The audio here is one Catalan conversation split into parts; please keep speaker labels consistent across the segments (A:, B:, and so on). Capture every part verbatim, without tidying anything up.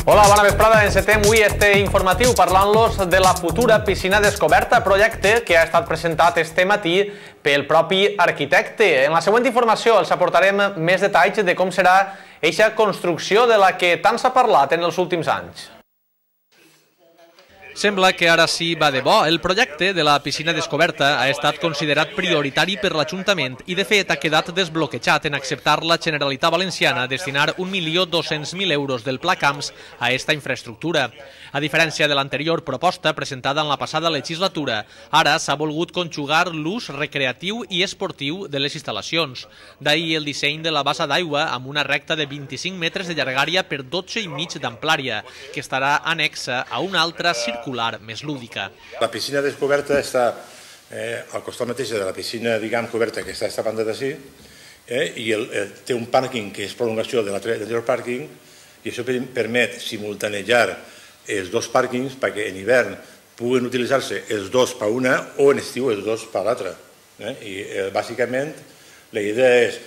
A: Hola, bona vesprada. Encetem avui este informatiu parlant-los de la futura piscina descoberta, projecte que ha estat presentat este matí pel propi arquitecte. En la següent informació els aportarem més detalls de com serà eixa construcció de la que tant s'ha parlat en els últims anys. Sembla que ara sí va de bo. El projecte de la piscina descoberta ha estat considerat prioritari per l'Ajuntament i, de fet, ha quedat desbloquejat en acceptar la Generalitat Valenciana destinar un milió dos-cents mil euros del Pla Camps a esta infraestructura. A diferència de l'anterior proposta presentada en la passada legislatura, ara s'ha volgut conjugar l'ús recreatiu i esportiu de les instal·lacions. D'ahir el disseny de la bassa d'aigua amb una recta de vint-i-cinc metres de llargària per dotze i mig d'amplària, que estarà anexa a una altra circular més lúdica.
B: La piscina descoberta està eh, al costat mateix de la piscina, diguem, coberta que està a esta banda d'ací, eh, i el, el, té un pàrquing que és prolongació de l'anterior pàrquing, i això permet simultanejar els dos pàrquings perquè en hivern puguen utilitzar-se els dos per una o en estiu els dos per l'altra. Eh? I eh, bàsicament la idea és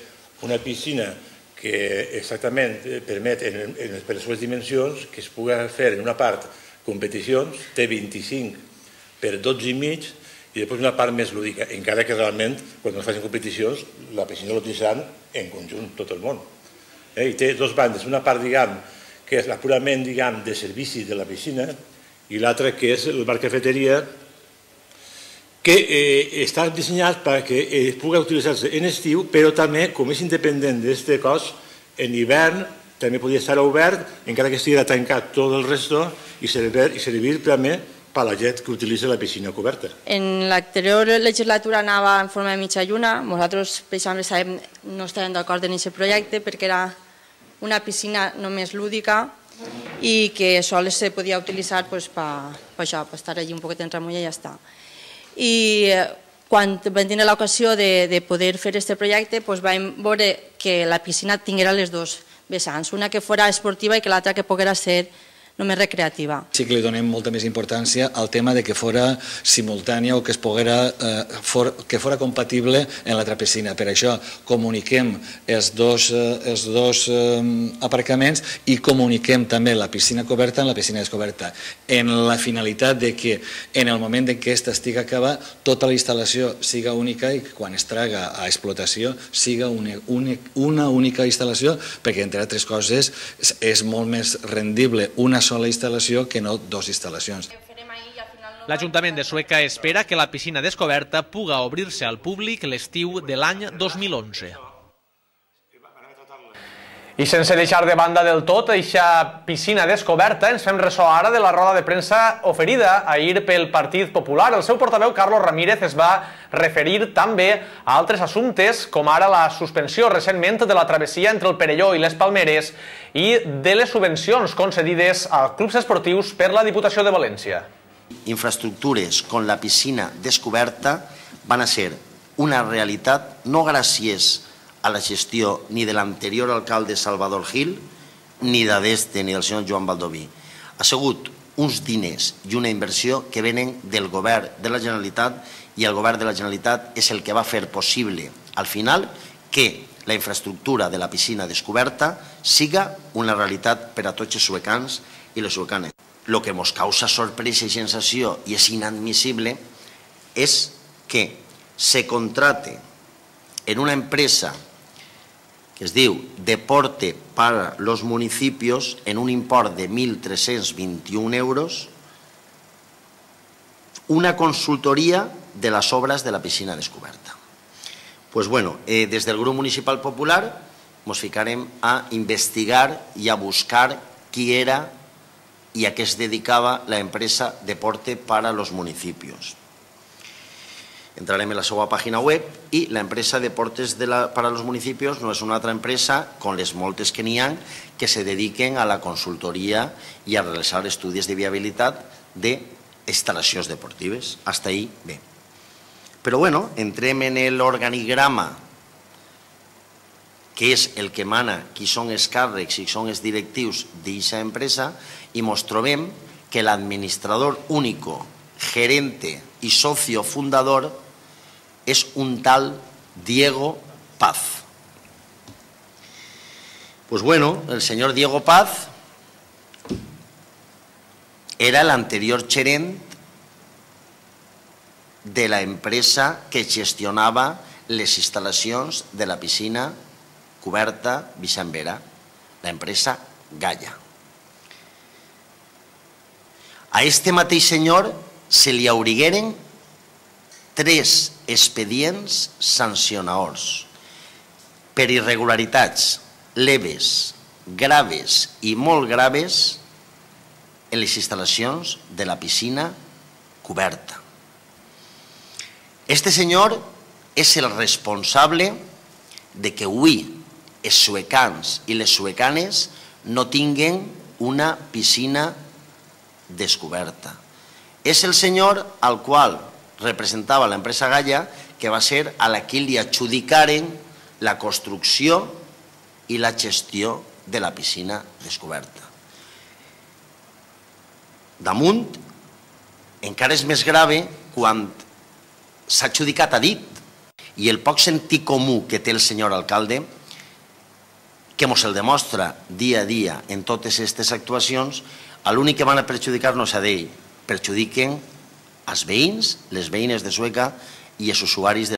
B: una piscina que exactament permet en, en, per les seves dimensions que es pugui fer en una part competicions, té vint-i-cinc per dotze i mig i després una part més lúdica, encara que realment quan es facin competicions la piscina l'utilitzaran en conjunt tot el món. Eh? I té dos bandes, una part diguem que és la purament diguem de servici de la piscina i l'altra que és el bar cafeteria que eh, està dissenyat perquè es pugui utilitzar-se en estiu, però també com és independent d'aquest cos, en hivern també podria estar obert, encara que estigui tancat tot el resto, i servir, i servir també per a la gent que utilitza la piscina coberta.
C: En l'anterior legislatura anava en forma de mitja lluna. Nosaltres, per exemple, no estàvem d'acord en aquest projecte perquè era una piscina només lúdica i que sols se podia utilitzar pues, per, per això, per estar allí un poquet en remulla i ja està. I quan vam tenir l'ocasió de, de poder fer aquest projecte, pues, vam veure que la piscina tinguera les dues vessants, una que fora esportiva i que l'altra que poguera ser només recreativa.
D: Sí que li donem molta més importància al tema de que fora simultània o que es poguera, eh, for, que fora compatible en l'altra piscina. Per això comuniquem els dos, eh, els dos eh, aparcaments i comuniquem també la piscina coberta en la piscina descoberta, en la finalitat de que en el moment en què aquesta estigui acabada, tota la instal·lació siga única i quan es traga a explotació siga una, una, una única instal·lació, perquè entre altres coses és, és molt més rendible una sola instal·lació que no dues instal·lacions.
A: L'Ajuntament de Sueca espera que la piscina descoberta puga obrir-se al públic l'estiu de l'any dos mil onze. I sense deixar de banda del tot eixa piscina descoberta, ens fem ressò ara de la roda de premsa oferida ahir pel Partit Popular. El seu portaveu, Carlos Ramírez, es va referir també a altres assumptes, com ara la suspensió recentment de la travessia entre el Perelló i les Palmeres i de les subvencions concedides a clubs esportius per la Diputació de València.
E: Infraestructures con la piscina descoberta van a ser una realitat no gràcies a la gestió ni de l'anterior alcalde Salvador Gil ni d'este ni del senyor Joan Baldoví. Ha sigut uns diners i una inversió que venen del govern de la Generalitat i el govern de la Generalitat és el que va fer possible al final que la infraestructura de la piscina descoberta siga una realitat per a tots els suecans i les suecanes. El que ens causa sorpresa i sensació i és inadmissible és que se contrate en una empresa que es diu Deporte para los Municipios en un import de mil tres-cents vint-i-un euros una consultoria de les obres de la piscina descoberta. Pues bueno, eh, des del grup municipal popular ens ficarem a investigar i a buscar qui era i a què es dedicava la empresa Deporte para los Municipios. Entrarem en la seva pàgina web i la empresa Deportes de la, para los Municipios no és una altra empresa, con les moltes que n'hi ha, que se dediquen a la consultoria i a realitzar estudis de viabilitat d'instal·lacions deportives. Hasta ahí bé. Però bueno, entrem en l'organigrama, que és el que mana qui són els càrrecs i són els directius d'aquesta empresa, i ens trobem que l'administrador único, gerente i socio fundador és un tal Diego Paz. Pues bueno, el señor Diego Paz era l'anterior gerent de la empresa que gestionava les instal·lacions de la piscina coberta Vicent Vera, l'empresa Gaia. A este mateix senyor se li aurigueren tres expedients sancionadors per irregularitats leves, graves i molt graves en les instal·lacions de la piscina coberta. Este senyor és el responsable de que avui els suecans i les suecanes no tinguen una piscina descoberta. És el senyor al qual representava l'empresa Gaia, que va ser a la que li adjudicaren la construcció i la gestió de la piscina descoberta. Damunt, encara és més grave quan s'ha adjudicat a dit i el poc sentit comú que té el senyor alcalde, que ens el demostra dia a dia en totes aquestes actuacions, l'únic que van a perjudicar-nos a ell, perjudiquen els veïns, les veïnes de Sueca i els usuaris de